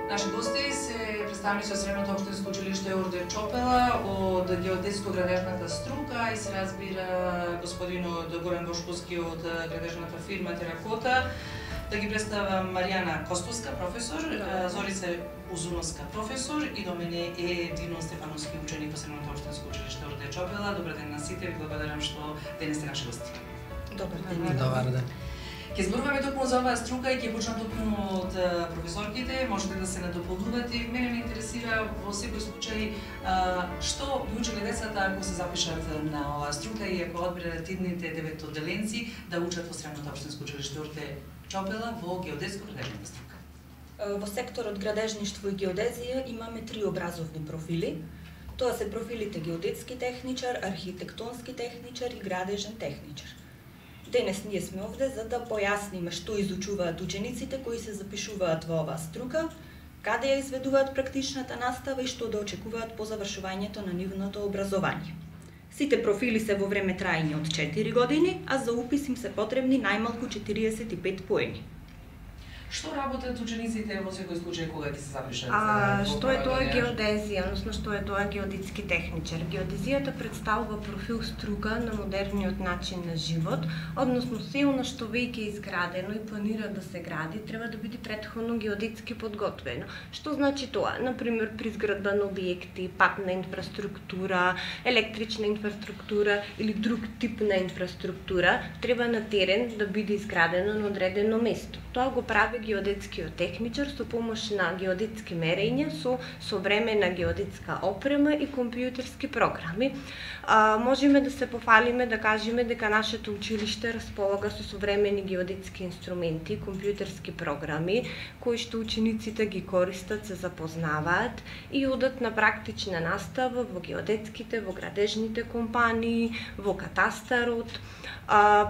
Наши гости се представници од Средното општинско училиште Орде Чопела од геодетско-градежната струка и се разбира господинот Горан Бошковски од градежната фирма Теракота. Да ги представам Маријана Костовска, професор, Зорица Узуновска, професор и до мене е Дино Стефановски, ученик во Средното општинско училиште Орде Чопела. Добар ден на сите, ви благодарам што денес сте наши гости. Добар ден. Добар ден. Ќе зборуваме токму за оваа струка и ќе почнам токму од професорките, можете да се надополнувате. Мене ме интересира во секој случај што би учеле децата ако се запишат на оваа струка и ако одберат идните 9 одделенци да учат во Средното општинско училиште Орде Чопела во геодетско-градежната струка. Во секторот градежништво и геодезија имаме 3 образовни профили. Тоа се профилите геодетски техничар, архитектонски техничар и градежен техничар. Денес ние сме овде за да појасниме што изучуваат учениците кои се запишуваат во оваа струка, каде ја изведуваат практичната настава и што да очекуваат по завршувањето на нивното образование. Сите профили се во време трајање од 4 години, а за упис им се потребни најмалку 45 поени. Што работат учениците во секој случај кога ќе се запишат? Што е тоа геодезија, односно што е тоа геодетски техничар? Геодезијата представува профил струка на модерниот начин на живот, односно се она што веќе е изградено и планира да се гради, треба да биде претходно геодетски подготвено. Што значи тоа? Например, при изградба на објекти, патна инфраструктура, електрична инфраструктура или друг тип на инфраструктура, треба на терен да биде изградено на одредено место. Тоа го прави геодетскиот техничар со помош на геодетски мерења, со современа геодетска опрема и компјутерски програми. Можеме да се пофалиме да кажеме дека нашето училиште располага со современи геодетски инструменти, компјутерски програми, кои што учениците ги користат, се запознаваат и одат на практична настава во геодетските, во градежните компании, во катастарот.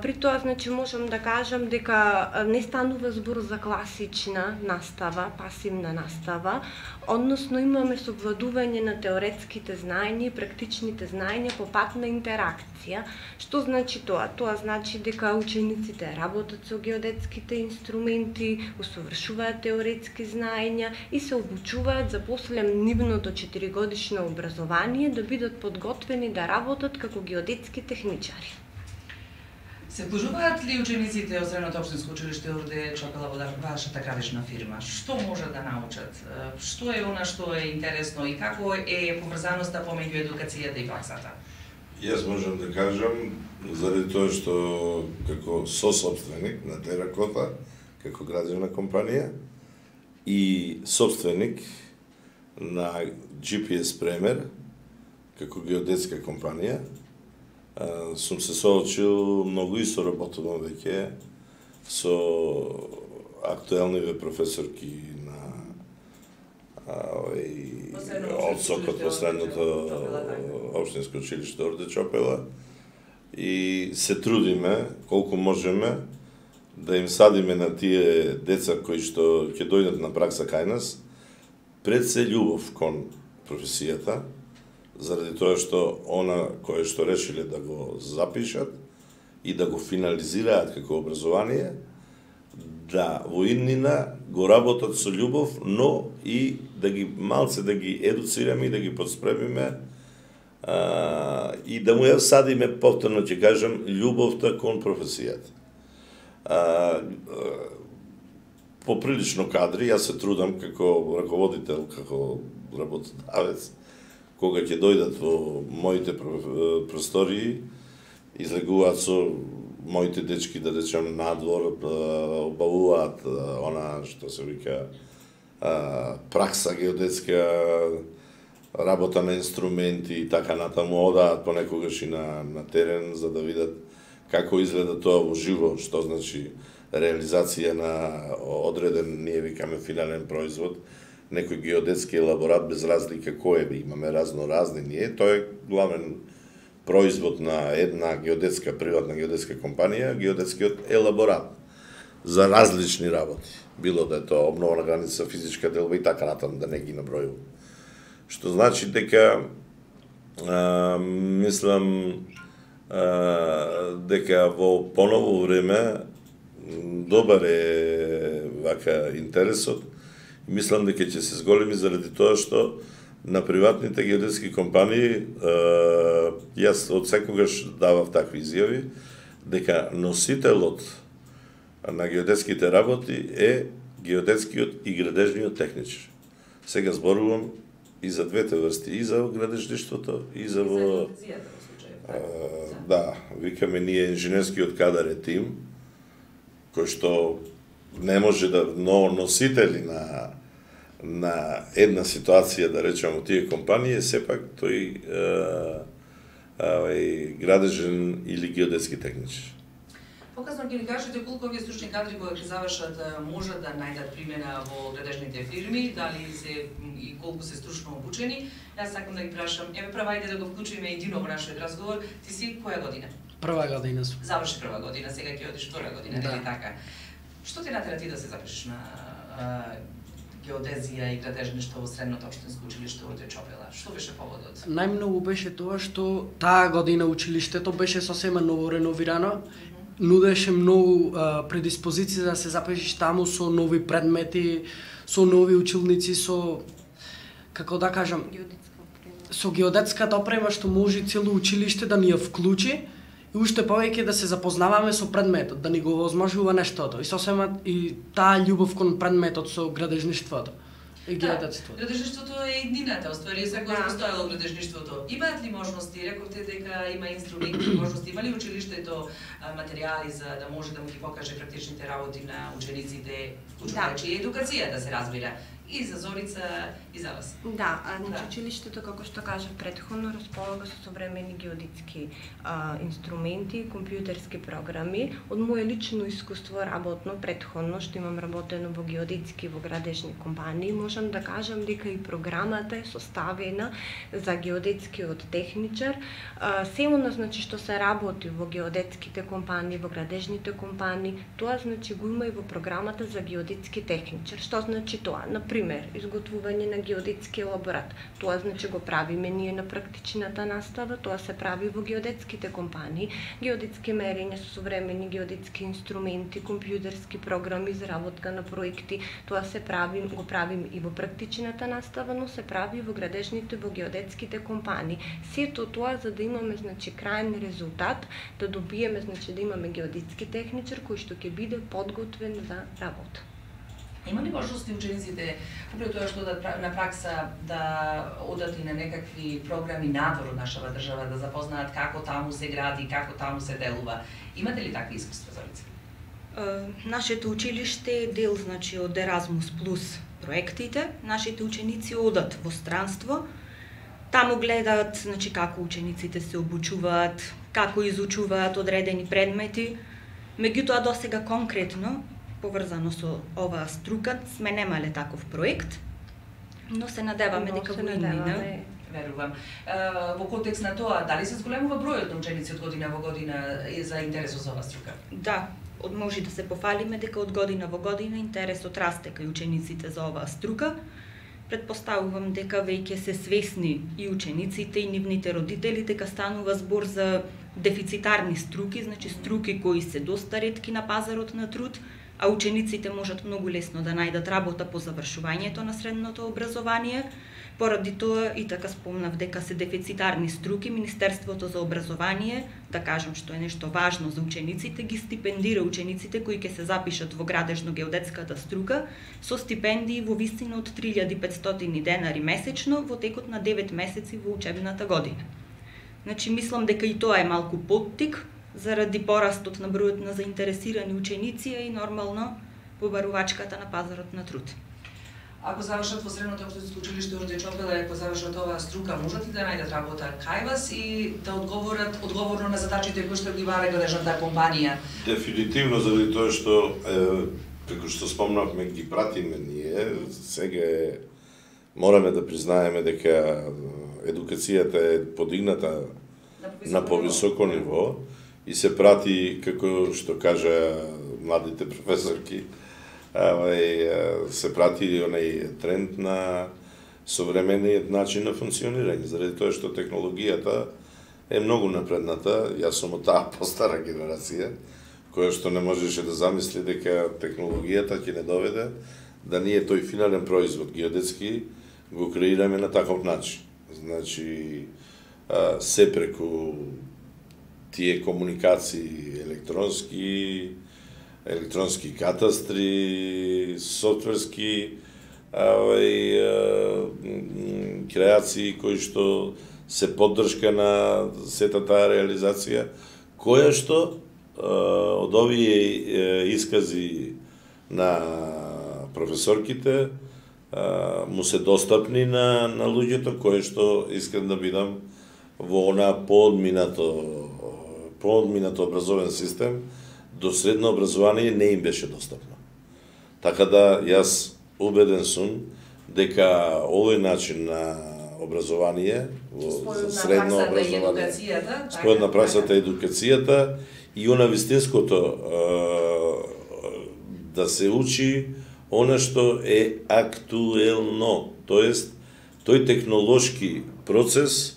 При тоа, значи, можам да кажам дека не станува збор за класична настава, пасивна настава, односно имаме совладување на теоретските знаења и практичните знаења по пат на интеракција. Што значи тоа? Тоа значи дека учениците работат со геодетските инструменти, усовршуваат теоретски знаења и се обучуваат за после нивното 4-годишно образование да бидат подготвени да работат како геодетски техничари. Се вклучуваат ли учениците од Средното општинско училиште Орде Чопела во вашата градежна фирма? Што можат да научат? Што е она што е интересно и како е поврзаноста помеѓу едукацијата и праксата? Јас можам да кажам, заради тоа што како сосопственик на Теракота, како градежна компанија и собственик на GPS Премер, како геодетска компанија, сум се соочил многу и соработувам веќе со актуелниве професорки на одсокот во Средното општинско училиште Орде Чопела и се трудиме колку можеме да им садиме на тие деца кои што ќе дојдат на пракса кај нас пред се љубов кон професијата, заради тоа што она кое што решиле да го запишат и да го финализираат како образование, да во иднина го работат со љубов, но и да ги малце да ги едуцираме и да ги подспремиме и да му ја садиме повторно, ќе кажам, љубовта кон професијата. Поприлично кадри, јас се трудам како раководител, како работодавец, кога ќе дојдат во моите простории, излегуваат со моите дечки, да речем, надвор, обавуваат она што се вика пракса геодетска, работа на инструменти и така натаму, одаат понекогаш и на терен за да видат како изгледа тоа во живо, што значи реализација на одреден, ние викаме, финален производ, некој геодетски елаборат без разлика кој е, имаме разноразни ние, тој е главен производ на една геодетска, приватна геодетска компанија, геодетскиот елаборат за различни работи. Било да е тоа обнова на граница, физичка делба и така натаму, да не ги набројувам. Што значи дека мислам дека во поново време добар е вака интересот Мислам дека ќе се зголеми заради тоа што на приватните геодетски компании јас од секогаш давав такви изјави дека носителот на геодетските работи е геодетскиот и градежниот техничар. Сега зборувам и за двете врсти, и за градежништвото, и за во... Да, викаме ние инженерскиот кадар е тим, кој што не може да, но носители на една ситуација, да речеме, тие компании, сепак тој градежен или геодетски техничар. Показно ќе ни кажете колку овие стручни кадри кои ќе завршат можат да најдат примена во градежните фирми, дали се и колку се стручно обучени. Јас сакам да ги прашам, прва ајде да го вклучиме едино во нашиот разговор. Ти си која година? Прва година сум. Заврши прва година, сега ќе одиш втора година, нели така? Што те натера ти да се запишеш на геодезија и градежништво во Средното општинско училиште Урде Чопела? Што беше поводот? Најмногу беше тоа што таа година училиштето беше сосема ново реновирано, нудеше многу предиспозиции да се запишеш таму со нови предмети, со нови училници, со, како да кажам, со геодетската опрема што може цело училиште да ни ја вклучи и уште повеќе да се запознаваме со предметот, да ни го возможува нештото. И сосема и таа љубов кон предметот со градежништвото и геодетството. Градежништвото е еднината, оствари секој постоело градежништвото. Имаат ли можности, рековте дека има инструменти, можности, има ли училиштето материјали за да може да му ги покаже практичните работи на учениците, вклучувајќи и едукацијата, се разбира, и за Зорица, и за вас? Да, училиштето, како што кажав претходно, располага со современи геодетски инструменти, компјутерски програми. Од моје лично искуство работно претходно, што имам работено во геодетски во градежни компании, можам да кажам дека и програмата е составена за геодетскиот техничар. Сеуна, значи, што се работи во геодетските компании, во градежните компании, тоа значи го има и во програмата за геодетски техничар. Што значи тоа? Например, изготвување на геодетски елаборат. Тоа значи го правиме ние на практичната настава, тоа се прави во геодетските компании. Геодетски мерења со современи геодетски инструменти, компјутерски програми за работка на проекти, тоа се прави, го правим и во практичната настава, но се прави и во градежните, во геодетските компании. Сето тоа за да имаме, значи, крајен резултат, да добиеме, значи, да имаме геодетски техничар кој што ќе биде подготвен за работа. Има ли можности учениците, управо тоа што на пракса да одат и на некакви програми надвор од нашава држава, да запознаат како таму се гради, како таму се делува? Имате ли такви искуства, Зорица? Нашето училиште е дел, значи, од Еразмус плюс проектите. Нашите ученици одат во странство, таму гледаат, значи, како учениците се обучуваат, како изучуваат одредени предмети. Меѓутоа, досега конкретно, поврзано со оваа струка, сме немале таков проект, но се надеваме дека во иднина. Верувам. Во контекст на тоа, дали се зголемува бројот на ученици од година во година за интересот за оваа струка? Да, може да се пофалиме дека од година во година интересот расте кај учениците за оваа струка. Предпоставувам дека веќе се свесни и учениците и нивните родители дека станува збор за дефицитарни струки, значи струки кои се доста ретки на пазарот на труд, а учениците можат многу лесно да најдат работа по завршувањето на средното образование. Поради тоа и така спомнав дека се дефицитарни струки, Министерството за образование, да кажам што е нешто важно за учениците, ги стипендира учениците кои ќе се запишат во градежно-геодетската струка со стипендии во висина од 3500 денари месечно во текот на 9 месеци во учебната година. Значи, мислам дека и тоа е малку поттик заради порастот на бројот на заинтересирани ученици и нормално побарувачката на пазарот на труд. Ако завршат во Средното општинско училиште Урде Чопела, ако завршат оваа струка, можат ли да најдат работа кај вас и да одговорат одговорно на задачите кои што ги бара градежната компанија? Дефинитивно, заради тоа што како што спомнавме, ги пратиме ние, сега мораме да признаеме дека едукацијата е подигната на повисоко ниво и се прати, како што кажа младите професорки, се прати онај тренд на современиот начин на функционирање, заради тоа што технологијата е многу напредната. Јас сум од таа постара генерација, која што не можеше да замисли дека технологијата ќе не доведе да ние тој финален производ геодетски го креираме на таков начин. Значи, се преку тие комуникации електронски катастри, софтверски креации кои што се поддршка на сета таа реализација, која што од овие искази на професорките му се достапни на луѓето кои што искам да бидам во она поодминато образовен систем, до средно образование не им беше достапно. Така да јас убеден сум дека овој начин на образование во средно образование, спојот на праксата и едукацијата и она вистинското да се учи она што е актуелно, тоест тој технолошки процес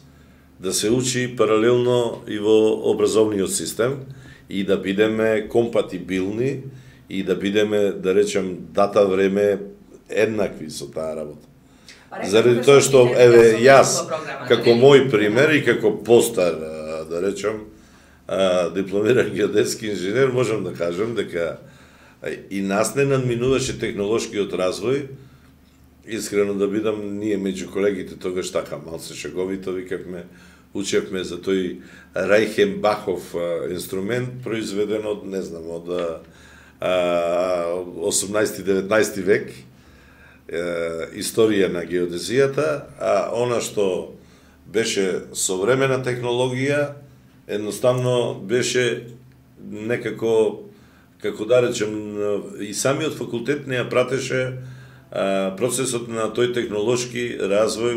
да се учи паралелно и во образовниот систем и да бидеме компатибилни и да бидеме, да речем, дата време еднакви со таа работа. Заради тоа што, еве, јас, како мој пример и како постар, да речем, дипломиран геодетски инженер, можам да кажам дека и нас не надминуваше технолошкиот развој. Искрено да бидам, ние меѓу колегите тогаш така малце шеговито викавме, учевме за тој Рајхенбахов инструмент, произведен од, не знам, од 18-19 век, историја на геодезијата, а она што беше современа технологија, едноставно беше некако, како да речем, и самиот факултет не ја пратеше процесот на тој технолошки развој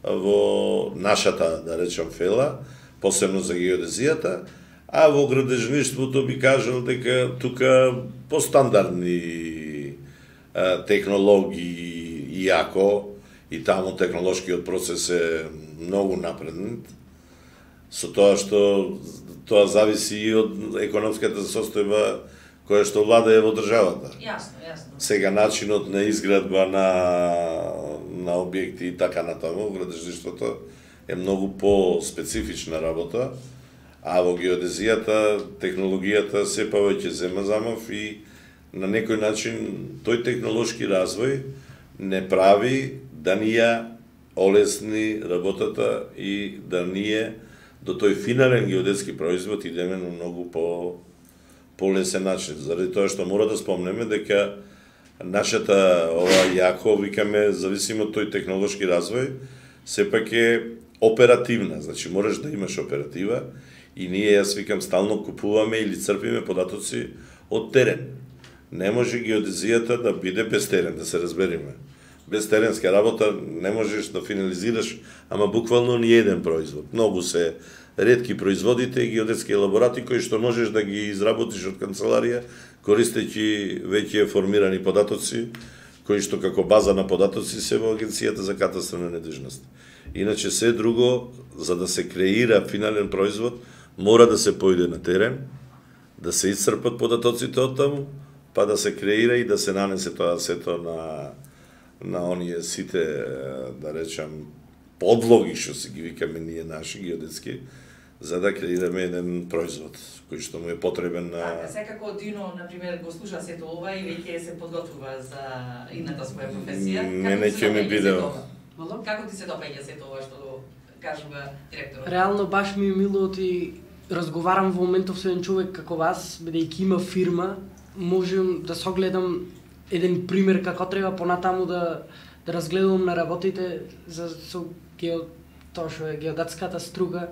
во нашата, да речем, фела, посебно за геодезијата, а во градежништвото би кажал дека тука постандардни технологии, иако и таму технолошкиот процес е многу напреднат, со тоа што тоа зависи и од економската состојба која што владее во државата. Јасно, јасно. Сега начинот на изградба на објекти и така натаму, градежништвото е многу по-специфична работа, а во геодезијата технологијата се повеќе зема замав и на некој начин тој технолошки развој не прави да ни ја олесни работата и да ние до тој финален геодетски производ идеме на многу полесен начин. Заради тоа што мора да спомнеме дека нашата ова јако, викаме, зависимо од тој технолошки развој, сепак е оперативна, значи можеш да имаш оператива и ние, јас викам, стално купуваме или црпиме податоци од терен. Не може геодезијата да биде без терен, да се разбериме. Без теренска работа не можеш да финализираш, ама буквално ни еден производ. Многу се ретки производите и геодетски елаборати кои што можеш да ги изработиш од канцеларија, користејќи веќе формирани податоци, кои што како база на податоци се во Агенцијата за катастрална недвижност. Иначе се друго, за да се креира финален производ, мора да се појде на терен, да се исцрпат податоците од таму, па да се креира и да се нанесе тоа сето на оние сите, да речам, подлоги што си ги викаме ние наши геодетски, за да креираме еден производ кој што му е потребен на... Така, секако Дино, например, го слуша сето ова и веќе се подготвува за идната своја професија. Не ќе ми биде... Како ти се допаѓа сето ова што го кажува директорот? Реално баш ми е мило и разговарам во моментов со еден човек како вас, бидејќи има фирма, можем да согледам еден пример како треба понатаму да разгледувам на работите за тоа што е геодетската струга.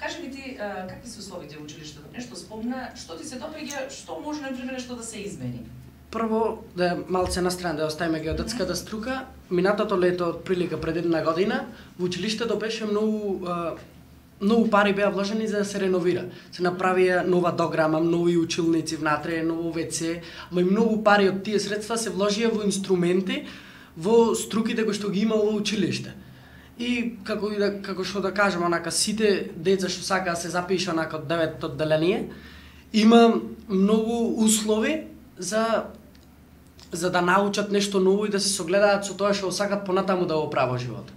Кажи ми ти, какви се условите во училиштето? Нешто спомна, што ти се допаѓа, што може, например, нешто да се измени? Прво, да малце на страна да оставиме геодетската струка, минатото лето, отприлика пред една година, во училиштето беше многу пари беа вложени за да се реновира. Се направија нова дограма, нови училници внатре, ново ВЦ, ама и многу пари од тие средства се вложија во инструменти, во струките кои што ги има во училиште. И како што да кажам, онака сите деца што сакаа се запиша онака од 9-то одделение, има многу услови за за да научат нешто ново и да се согледаат со тоа што сакат понатаму да го прават живот.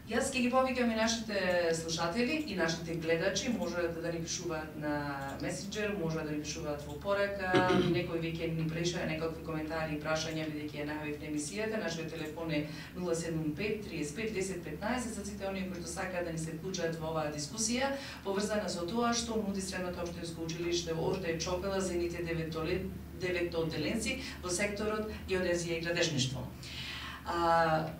Јас ќе ги повикам и нашите слушатели и нашите гледачи, можат да ни пишуваат на месенџер, можат да ни пишуваат во порака, некој веќе ни преша некакви коментари и прашања бидејќи ја најавивме емисијата. Нашиот телефон е 075 35 10 15 за сите оние кои сакаат да ни се вклучат во оваа дискусија, поврзана со тоа што нуди Средното општинско училиште Орде Чопела за нивните 9 одделенци во секторот геодезија и градежништво.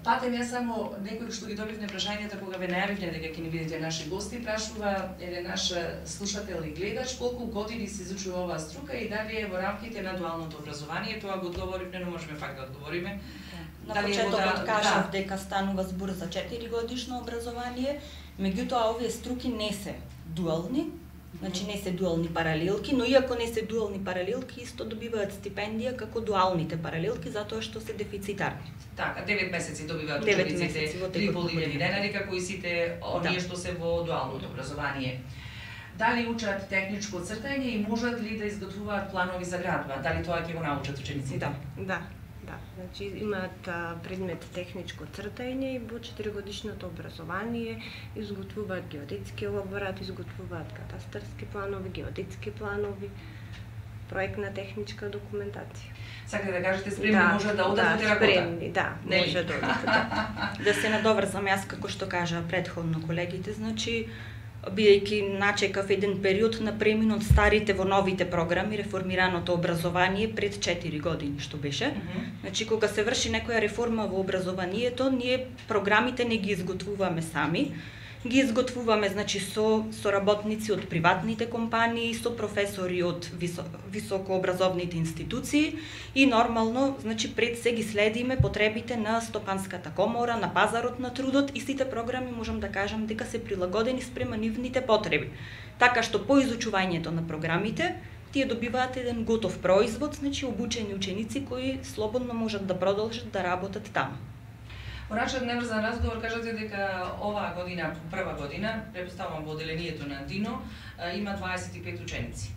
Патем јас само некој што ги добивме прашањата кога ве најавивме дека ќе ни бидете наши гости, прашува еден наш слушател и гледач колку години се изучува оваа струка и дали е во рамките на дуалното образование. Тоа го одговоривме, но можеме пак да одговориме. На почетокот кажав дека станува збор за 4 годишно образование, меѓутоа овие струки не се дуални. Значи не се дуални паралелки, но иако не се дуални паралелки, исто добиваат стипендија како дуалните паралелки затоа што се дефицитарни. Така, 9 месеци добиваат учениците 3.500 денари, како и сите оние што се во дуалното образование. Дали учат техничко цртање и можат ли да изготвуваат планови за градба? Дали тоа ќе го научат учениците? Да. Значи имаат предмет техничко цртање и во 4-годишното образование изготвуваат геодетски елаборат, изготвуваат катастарски планови, геодетски планови, проектна техничка документација. Сакате да кажете спремни може да одат во теракота? Спремни, може да одат. Да се надоврзам јас како што кажа предходно колегите, значи бидејќи начекав еден период на премин од старите во новите програми, реформираното образование пред 4 години што беше. Значи кога се врши некоја реформа во образованието, ние програмите не ги изготвуваме сами, ги изготвуваме значи со работници од приватните компании, со професори од високообразовните институции и нормално значи пред се ги следиме потребите на стопанската комора, на пазарот на трудот и сите програми можам да кажам дека се прилагодени спрема нивните потреби. Така што по изучувањето на програмите тие добиваат еден готов производ, значи обучени ученици кои слободно можат да продолжат да работат таму. Во нашиот неврзан разговор кажате дека оваа година, прва година, претпоставувам во одделението на Дино, има 25 ученици.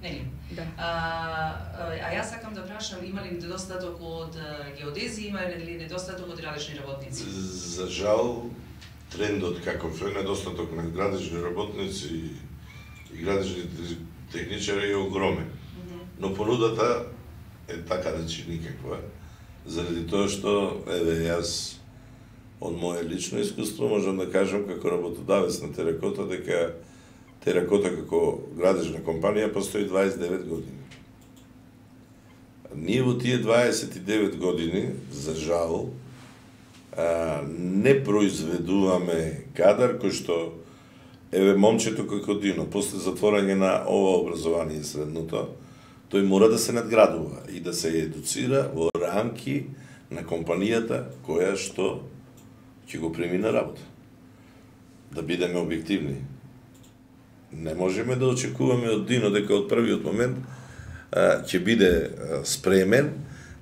Нели? Да. Јас сакам да прашам, има ли недостаток од геодези, има ли недостаток од градежни работници? За жал, трендот каков е недостаток на градежни работници и градежни техничари е огромен. Но понудата е така речи никаква. Заради тоа што, еве, јас од моје лично искуство можам да кажам како работодавец на Теракота дека Теракота како градежна компанија постои 29 години. Ние во тие 29 години, за жал, не произведуваме кадар кој што, еве, момчето како Дино, после затворање на ова образование средното, тој мора да се надградува и да се едуцира во рамки на компанијата која што ќе го прими на работа. Да бидеме објективни. Не можеме да очекуваме од Дино дека од првиот момент ќе биде спремен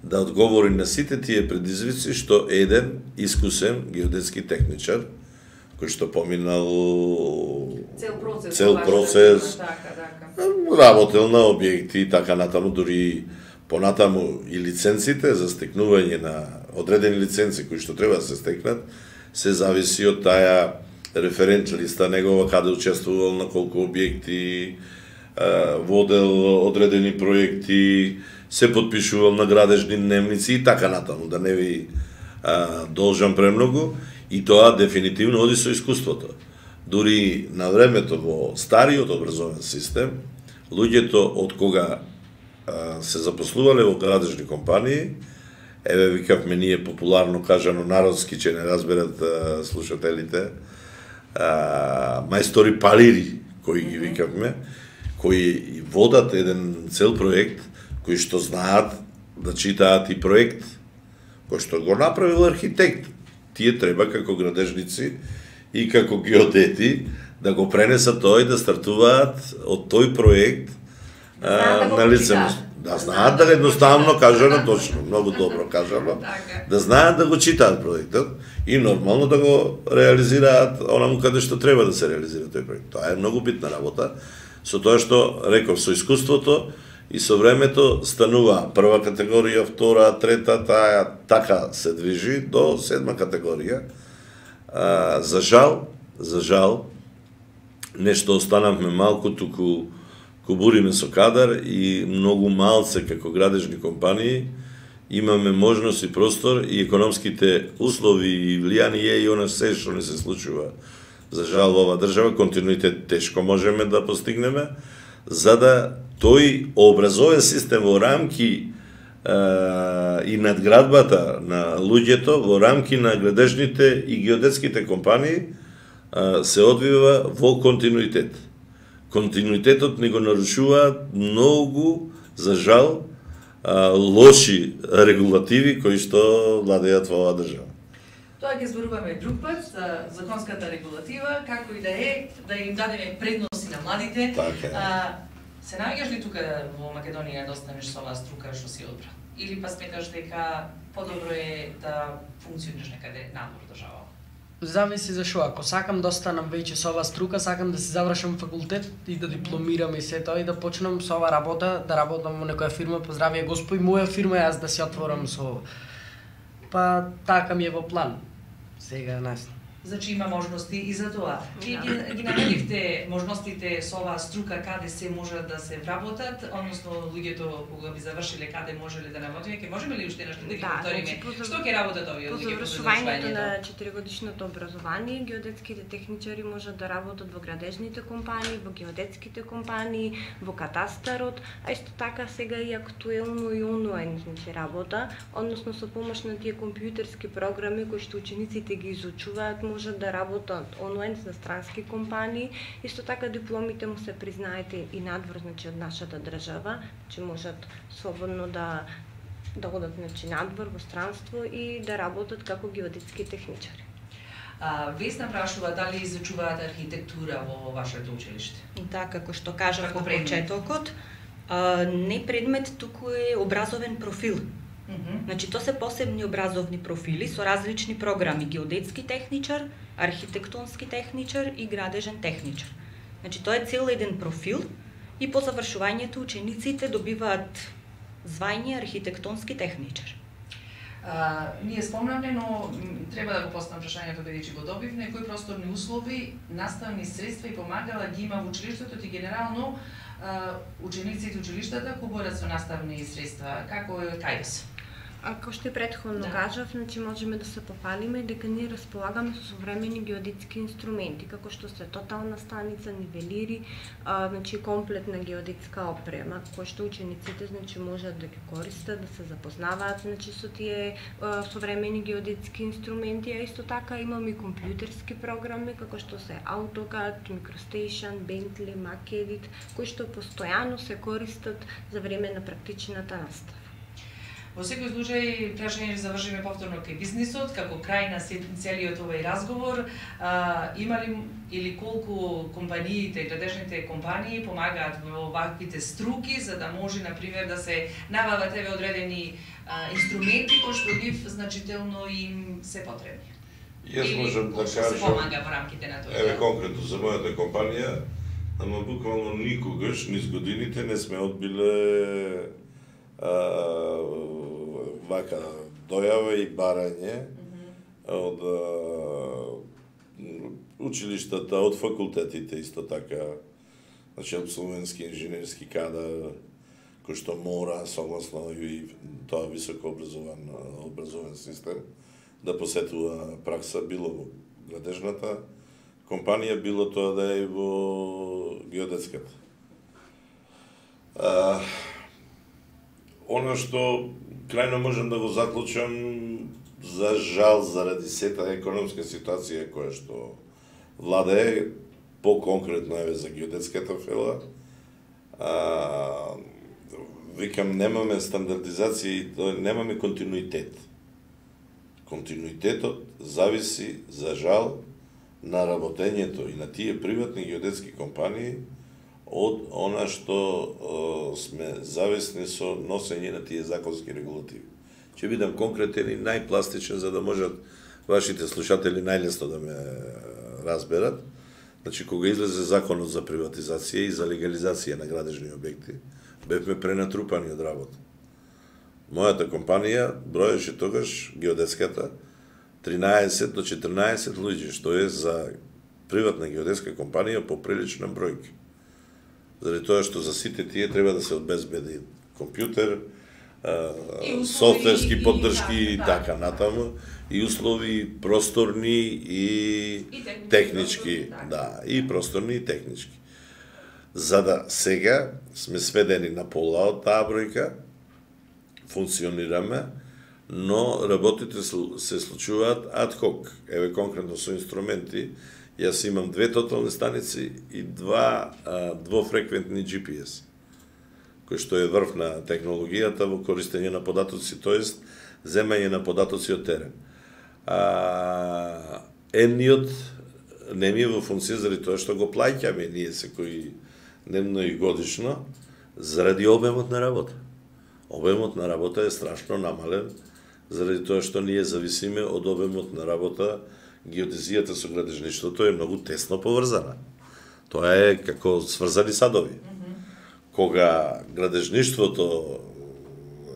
да одговори на сите тие предизвици што еден искусен геодетски техничар кој што поминал цел процес, работел на објекти и така натаму, дури понатаму и лиценците за стекнување на одредени лиценци кои што треба да се стекнат, се зависи од таа референт листа негова, каде учествувал, на колку објекти, водел одредени проекти, се подпишувал на градежни дневници и така натаму, да не ви должам премногу, и тоа дефинитивно оди со искуството. Дури на времето во стариот образовен систем, луѓето од кога се запослувале во градежни компании, еве викавме ние популарно кажано народски, че не разберат слушателите, мајстори палири, кои ги викавме, кои водат еден цел проект, кои што знаат да читаат и проект, кој што го направил архитект. Тие треба како градежници и како геодети да го пренесат тоа и да стартуваат од тој проект на лицемост. Да знаат да едноставно кажано, точно, многу добро кажано, да знаат да го читаат проектот и нормално да го реализираат онаму каде што треба да се реализира тој проект. Тоа е многу битна работа, со тоа што реков со искуството И со времето станува прва категорија, втора, трета, таа така се движи до 7 категорија. За жал, нешто останавме малку, туку кубуриме со кадар и многу малце како градежни компании имаме можност и простор и економските услови и влијание и она се што не се случува. За жал во оваа држава континуитет тешко можеме да постигнеме, за да тој образовен систем во рамки и надградбата на луѓето, во рамки на градежните и геодетските компании се одвива во континуитет. Континуитетот ни го нарушуваат многу, за жал, лоши регулативи кои што владеат во оваа држава. Тоа ќе зборуваме друг пат за законската регулатива, како и да им дадеме предности на младите. Се наоѓаш ли тука во Македонија да останеш со оваа струка што си одбрал? Или па сметаш дека подобро е да функционираш некаде надвор држава? Зависи за што. Ако сакам да останам веќе со оваа струка, сакам да се завршам факултет и да дипломирам и се тоа и да почнам со оваа работа, да работам во некоја фирма, поздравија Господ, моја фирма јас да се отворам со. Па така ми е во план. Сега нас. Значи има можности и за тоа. Вие ги наведивте можностите со оваа струка каде се можат да се вработат, односно луѓето кога би завршиле каде можеле да работиме, ќе можеме ли уште нешто да ги повториме? Што ќе работат овие луѓе по завршувањето на 4-годишното образование, геодетските техничари можат да работат во градежните компании, во геодетските компании, во катастарот, а исто така сега и актуелно и онлайн работа, односно со помош на тие компјутерски програми кои што учениците ги изучуваат, можат да работат онлайн за странски компании. Исто така дипломите му се признаете и надвор, значи од нашата држава, че можат слободно да одат надвор во странство и да работат како геодетски техничари. Весна прашува дали изучуваат архитектура во вашето училиште? Да, како што кажав во почетокот, не предмет, туку е образовен профил. Значи, тоа се посебни образовни профили со различни програми: геодетски техничар, архитектонски техничар и градежен техничар. Значи, тоа е цел еден профил и по завршувањето учениците добиваат звање архитектонски техничар. Ние спомнавме, но треба да го поставам прашањето бидејќи го добивме, кои просторни услови, наставни средства и помагала ги има во училиштето и генерално учениците училиштата кои борат со наставни средства, како е кај се? Како што и претходно кажав, значи можеме да се пофалиме дека ние располагаме со современи геодетски инструменти, како што се тотална станица, нивелири, значи комплетна геодетска опрема, која што учениците значи можат да ги користат, да се запознаваат значи со тие современи геодетски инструменти, а исто така имаме и компјутерски програми како што се AutoCAD, MicroStation, Bentley, MacEdit, кои што постојано се користат за време на практичната настава. Во секој случај, прашање да завршиме повторно кај бизнисот, како крај на целиот овој разговор, има ли или колку компаниите, градежните компании помагаат во ваквите струки, за да може, например, да се набават еве одредени инструменти кои што нив значително им се потребни? Јас можам да кажам, се помага во рамките на тоа? Еве конкретно за мојата компанија, ама буквално никогаш низ годините не сме одбиле вака дојава и барање од училиштата, од факултетите исто така, значи абсолвентски инженерски кадар, кој што мора согласно и тоа високо образовен систем да посетува пракса било во градежната компанија, било тоа да е во геодетската. Оно што крајно можам да го заклучам, за жал, заради сета економска ситуација која што владее, по-конкретно еве за геодетската фела, викам, немаме стандардизација и немаме континуитет. Континуитетот зависи, за жал, на работењето и на тие приватни геодетски компании од она што сме зависни со носење на тие законски регулативи. Ќе бидам конкретен и најпластичен за да можат вашите слушатели најлесно да ме разберат. Значи, кога излезе законот за приватизација и за легализација на градежни објекти бевме пренатрупани од работа. Мојата компанија броеше тогаш геодетската 13 до 14 луѓе, што е за приватна геодетска компанија поприлична бројка. Заради тоа што за сите тие треба да се обезбеди компјутер, софтверски поддршки и така натаму, и услови просторни и технички, да, и просторни и технички. За да сега сме сведени на пола од таа бројка, функционираме, но работите се случуваат ад хок. Еве конкретно со инструменти, јас имам 2 тотални станици и 2 двофреквентни GPS, кој што е врв на технологијата во користење на податоци, тоест земање на податоци од терен. Едниот не ми е во функција заради тоа што го плаќаме ние секој дневно и годишно, заради обемот на работа. Обемот на работа е страшно намален, заради тоа што ние зависиме од обемот на работа. Геодезијата со градежништвото е многу тесно поврзана. Тоа е како сврзани садови. Кога градежништвото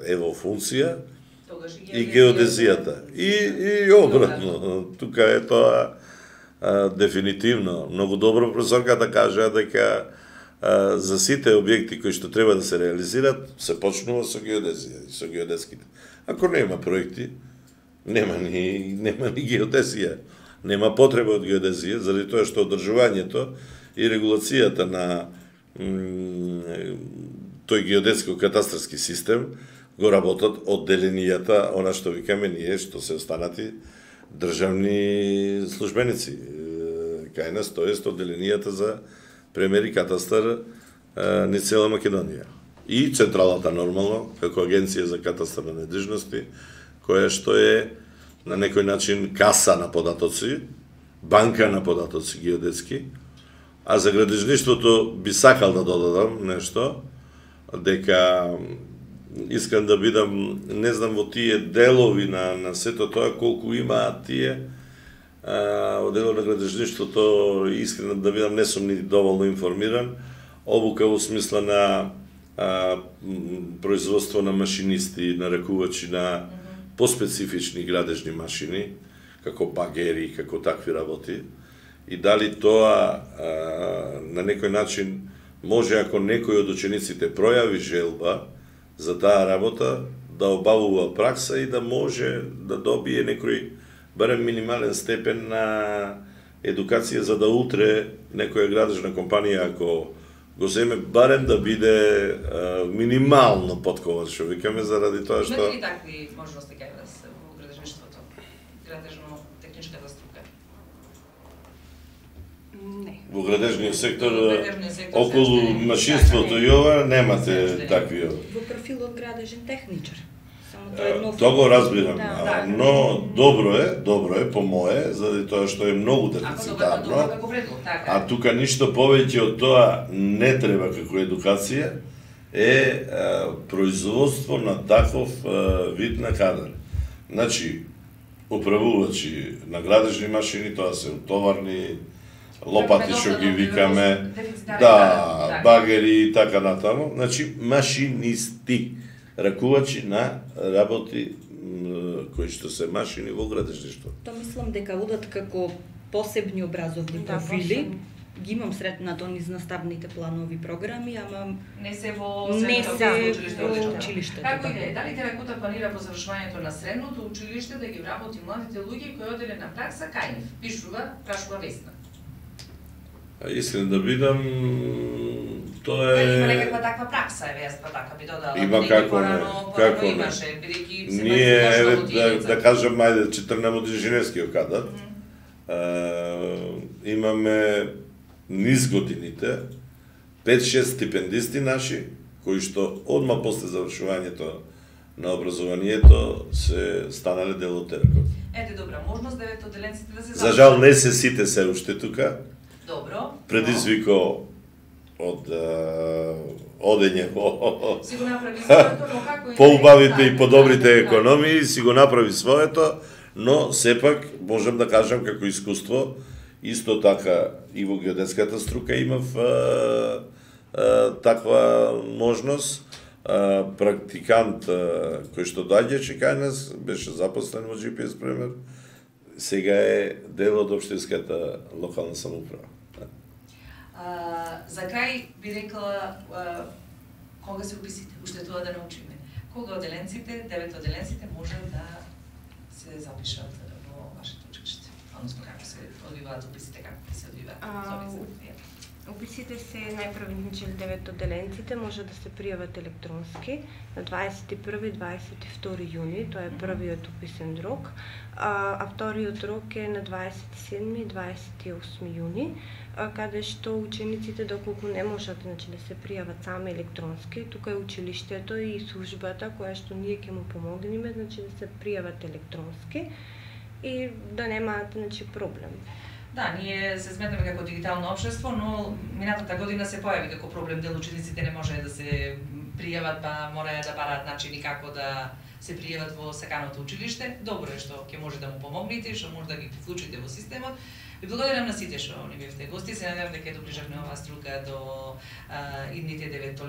е во функција, и геодезијата. И обратно. Тука е тоа дефинитивно. Многу добро професорка да кажа дека за сите објекти кои што треба да се реализират, се почнува со геодезија и со геодетските. Ако нема проекти, нема ни геодезија. Нема потреба од геодезија, заради тоа што одржувањето и регулацијата на тој геодетско-катастарски систем го работат одделенијата, она што викаме ние, што се останати државни службеници. Кај нас, тоест одделенијата за премер и катастар низ цела Македонија. И централата нормално, како агенција за катастар на недвижности, која што е на некој начин каса на податоци, банка на податоци геодетски, а за градежништвото би сакал да додадам нешто, дека искам да бидам, не знам во тие делови на сето тоа, колку имаат тие, од дело на градежништвото, искрено да бидам, не сум ни доволно информиран, обука во смисла на производство на машинисти, на ракувачи на поспецифични градежни машини, како багери, како такви работи, и дали тоа на некој начин може, ако некој од учениците пројави желба за таа работа, да обавува пракса и да може да добие некој барем минимален степен на едукација, за да утре некоја градежна компанија, ако го земе, барем да биде минимално подкован, што викаме, заради тоа што... Имате ли такви можности кај вас во градежништвото? Градежно-техничката струка? Не. Во градежниот сектор, околу машинството и ова, немате такви... Во профилот градежен техничар. Тоа го разбирам, но добро е, по мое, заради тоа што е многу дефицитарно, а тука ништо повеќе од тоа не треба како едукација, е производство на таков вид на кадар. Значи, управувачи на градежни машини, тоа се товарни, лопати што ги викаме, да, багери и така натаму, значи машинисти, ракувачи на работи кои што се машини во градежништво. Тоа мислам дека одат како посебни образовни профили. Ги имам сретнато низ наставните планови програми, ама не се во училиштето. Како и дали Теракота планира по завршувањето на средното училиште да ги вработи младите луѓе кои оделе на пракса кај нив? Прашува Весна. Искрен да бидам, тоа е... Има некаква таква пракса, Веста, така би додала. Има како не. Ние, да кажем, ајде, 14 од инженерскиот кадар, имаме низ годините 5-6 стипендисти наши, кои што одма после завршувањето на образованието се станале дел од Теракот. Ете, добра можност деветоделенците да се За жал не се сите се уште тука. Добро. Предизвико од одење во поубавите и подобрите економии, си го направи своето, но сепак можам да кажам како искуство, исто така и во геодетската струка имав таква можност. Практикант кој што доаѓаше кај нас, беше запослен во GPS пример, сега е дел од општинската локална самоуправа. За крај би рекла кога се уписите, уште тоа да научиме. Кога оделенците, 9 оделенците може да се запишат во вашето училиште? Односно како се одвиваат уписите, како се одвиваат? Уписите се најпрво 9 оделенците може да се пријават електронски на 21 и 22 јуни, тоа е првиот уписен рок, а вториот рок е на 27 и 28 јуни, каде што учениците доколку не можат да се пријават сами електронски, тука е училиштето и службата која што ние ќе му помогнеме да се пријават електронски и да немаат проблем. Да, ние се сметаме како дигитално општество, но минатата година се појави како проблем дел учениците не може да се пријават, па мора да бараат начини како да се пријават во саканото училиште. Добро е што ќе може да му помогнете, што може да ги вклучите во системот. Ви благодарам на сите што ни бевте гости. Се надевам дека доближавме оваа струка до идните 9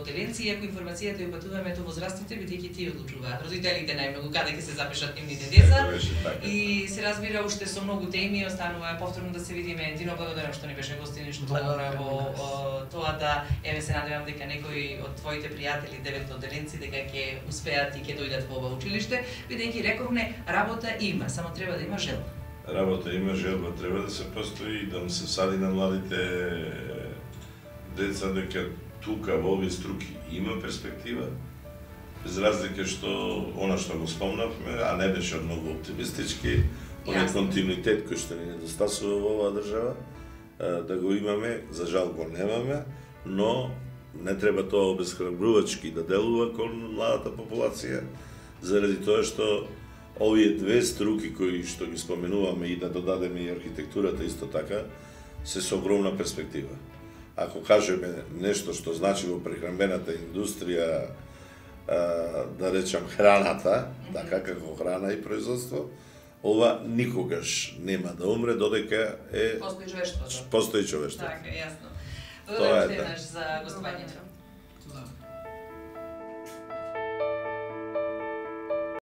оделенци. Иако информацијата ја упатуваме до возрастните, бидејќи тие одлучуваат. Родителите најмногу каде ќе се запишат нивните деца. И се разбира уште со многу теми, останува повторно да се видиме. Дино, благодарам што ни беше гостин и што помогна во тоа да се надевам дека некои од твоите пријатели 9 оделенци дека ќе успеат и ќе дојдат во ова училиште, бидејќи рековме работа има, само треба да има желба. Работа има, желба треба да се постои и да му се сади на младите деца дека тука во овие струки има перспектива, без разлика што она што го спомнавме, а не беше многу оптимистички, оној континуитет кој што ни недостасува во оваа држава, да го имаме, за жал го немаме, но не треба тоа обесхрабрувачки да делува кон младата популација, заради тоа што овие две струки кои што ги споменуваме и да додадеме и архитектурата исто така, се со огромна перспектива. Ако кажеме нешто што значи во прехранбената индустрија, да речам храната, така како храна и производство, ова никогаш нема да умре додека постои човештвото. Постои човештвото. Така, јасно. Благодарам се за гостувањето.